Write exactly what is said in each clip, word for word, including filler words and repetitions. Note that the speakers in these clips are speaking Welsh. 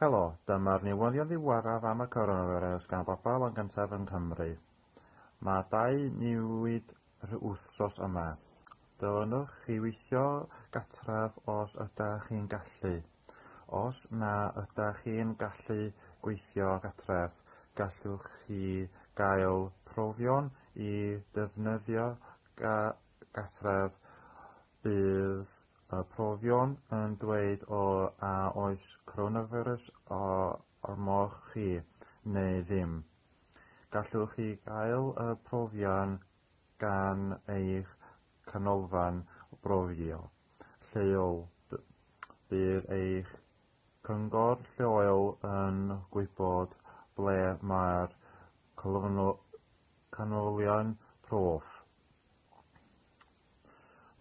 Helo, dyma'r newyddion ddiweddaraf am y coronavirus gan bobl yn gyntaf yng Nghymru. Mae dau newid wythnos yma. Dylwnwch chi weithio gartref os ydych chi'n gallu. Os na ydych chi'n gallu gweithio gartref, gallwch chi gael profion i ddefnyddio gartref. Bydd y profion yn dweud o a oes coronavirus arnoch chi neu ddim. Gallwch chi gael y profion gan eich canolfan brofio lleol. Bydd eich cyngor lleol yn gwybod ble mae'r canolfannau prawf.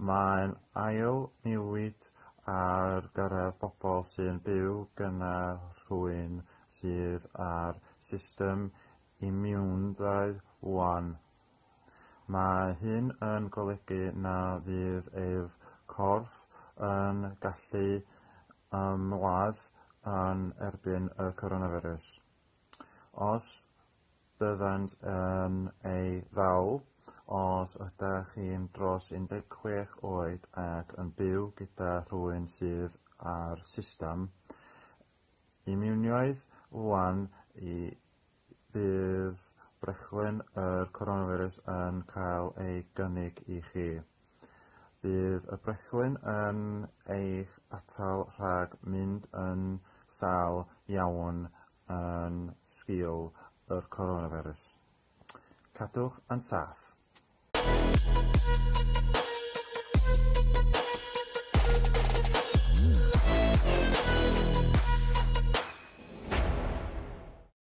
Mae'n ail newid ar gyfer pobl sy'n byw gyda rhywun sydd â'r system imiwnydd wan. Mae hyn yn golygu na fydd eu corff yn gallu ymladd yn erbyn y coronavirus. Os byddant yn ei ddal, os ydych chi'n dros un deg chwech oed ac yn byw gyda rhywun sydd â'r system imiwnedd wan, bydd brechlyn yr coronavirus yn cael ei gynnig i chi. Bydd y brechlyn yn eich atal rhag mynd yn sâl iawn yn sgil y coronavirus. Cadwch yn saff.